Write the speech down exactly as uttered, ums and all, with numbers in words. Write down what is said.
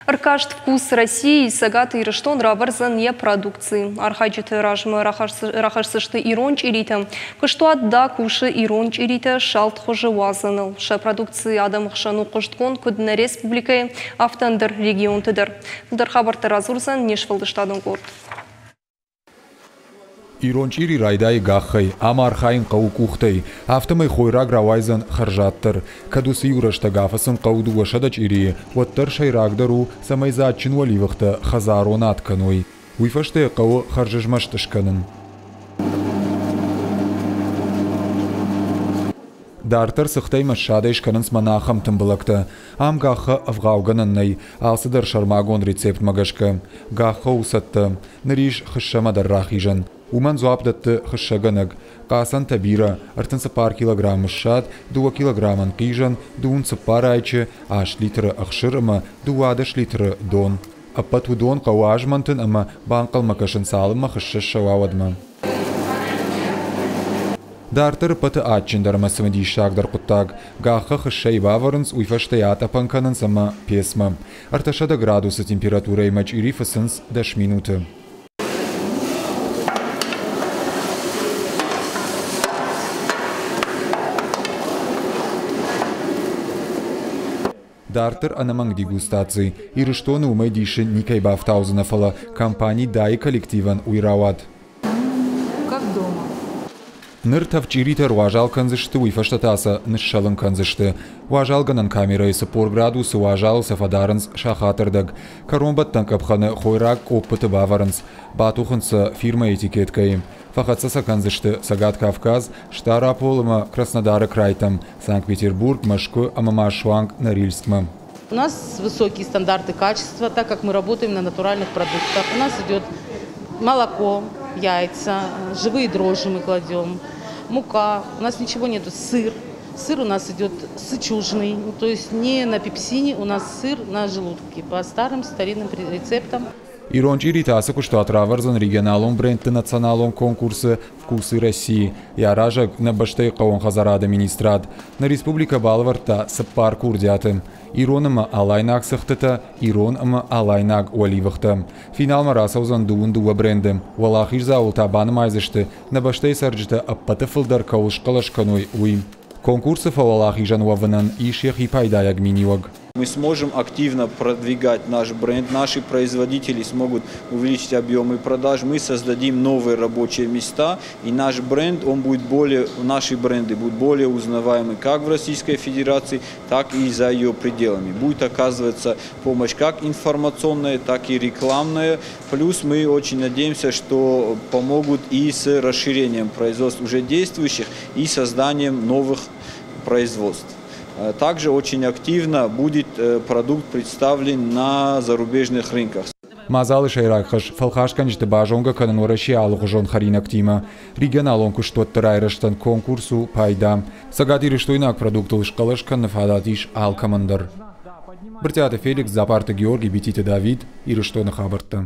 Ӕркаст «Вкус России» Цӕгат Ирыстон равӕрдзӕн йӕ продукци. Архайджыты размӕ рахӕсдзысты ирон чъиритӕ. Куыстуат «Да» кусы ирон чъиритӕ салд хуызы уадзыныл. Сӕ продукци адӕмы хсӕн у хъуыстгонд куыд нӕ республикӕйы, афтӕ ӕндӕр регионты дӕр. Фылдӕр хабӕрттӕ радзурдзӕн не сфӕлдыстадон къорд. Ирон чъири райдайы гаххӕй, ам архайын хъӕуы къухтӕй. Афтӕмӕй хойраг рауайдзӕн хӕрзаддӕр. Кӕд уыцы иу рӕстӕг афыцын хъӕуы дыууӕсӕдӕ чъирийы, уӕддӕр сӕйрагдӕр у, цӕмӕй дзаджджын уӕливыхтӕ хӕдзарон ад кӕной. Уый фӕстӕ йӕ хъӕуы хӕрзызмӕст скӕнын. Дарддӕр цыхтӕй ӕмӕ ссадӕй скӕнынц мӕнӕ ахӕм тымбылӕгтӕ. Ам гаххы ӕвгъаугӕнӕн нӕй, алцыдӕр сӕрмагонд рецептмӕ гӕсгӕ. Гаххы у цӕттӕ. Ныр ис хыссӕмӕ дӕр рахизӕн. Уымӕн дзуапп дӕтты хыссӕгӕнӕг. Хъацӕнтӕ бирӕ, ӕртын цыппар килограммы ссад, дыууӕ килограммы ӕнхъизӕн, дыууын цыппар айчы, аст литры ӕхсыр ӕмӕ дыууадӕс литры дон. Ӕппӕт уыдон хъӕуы азмӕнтын ӕмӕ банхъӕлмӕ кӕсын, цалынмӕ хыссӕ ссӕуа, уӕдмӕ. Дарддӕр ӕппӕты адджындӕр ӕмӕ цымыдисагдӕр хъуыддаг. Гаххы хыссӕйы бавӕрынц, уый фӕстӕ йӕ атъӕпӕн кӕнынц ӕмӕ пецмӕ. Ӕртӕсӕдӕ градусы температурӕимӕ чъири фыцынц дӕс минуты. Дарддӕр ӕнӕмӕнг дегустаци. Ирыстоны уымӕй дисы никӕй бафтаудзынӕ, фӕлӕ компани «Да»-йы коллективӕн уый рауад. Как дома. Ныр тӕвд чъиритӕ ӕруазал кӕндзысты, уый фӕстӕ та сӕ ныссӕлын кӕндзысты. Уазалгӕнӕн камерӕйы цыппор градусы уазалы сӕ фӕдарынц сахатырдӕг. Кӕронбӕттӕн къӕпхӕны хойраг къоппыты бавӕрынц, батухынц сӕ фирмӕйы этикеткӕйы. Фӕхӕццӕ сӕ кӕндзысты Цӕгат Кавказ, Стъарапол ӕмӕ Краснодары крайтӕм, Санкт-Петербург, Мӕскуы ӕмӕ ма суанг Норильскмӕ. У нас высокие стандарты качества, так как мы работаем на натуральных продуктах. У нас идет молоко, яйца, живые дрожжи мы кладем, мука, у нас ничего нету, сыр. Сыр у нас идет сычужный, то есть не на пепсине, у нас сыр на желудке по старым старинным рецептам. Ирон чъиритӕ ацы куыстуат равӕрдзӕн регионалон брендты националон конкурсы «Вкусы России». Йӕ аразӕг нӕ бӕстӕйы хъӕууон хӕдзарады министрад. Нӕ республикӕ балӕвӕрдта цыппар курдиаты. Ирон ӕмӕ алайнаг цыхтытӕ, ирон ӕмӕ алайнаг уӕливыхтӕ. Финалмӕ рацӕудзӕн дыууын дыууӕ бренды. Уӕлахиздзауыл та банымайдзысты, нӕ бӕстӕйы цӕрджытӕ ӕппӕты фылдӕр кӕуыл схъӕлӕс кӕной, уый. Конкурсы фӕуӕлахизӕн уӕвынӕн ис йӕхи пайдайаг миниуӕг. Мы сможем активно продвигать наш бренд, наши производители смогут увеличить объемы продаж, мы создадим новые рабочие места, и наш бренд, он будет более, наши бренды будут более узнаваемы как в Российской Федерации, так и за ее пределами. Будет оказываться помощь как информационная, так и рекламная. Плюс мы очень надеемся, что помогут и с расширением производств уже действующих, и созданием новых производств. Также очень активно будет продукт представлен на зарубежных рынках. Мадзалы сӕйраг хӕс фӕлхасгӕнджыты базонгӕ кӕнын Уӕрӕсейы алыгъуызон хӕринӕгтимӕ. Регионалон куыстуӕтты райрӕзтӕн конкурс у пайда. Цӕгатирыстойнаг продуктыл схъӕлӕс кӕныны фадат ис алкӕмӕн дӕр. Брытъиаты Феликс, Дзапарты Георгий, Бититы Давид, Ирыстоны хабӕрттӕ.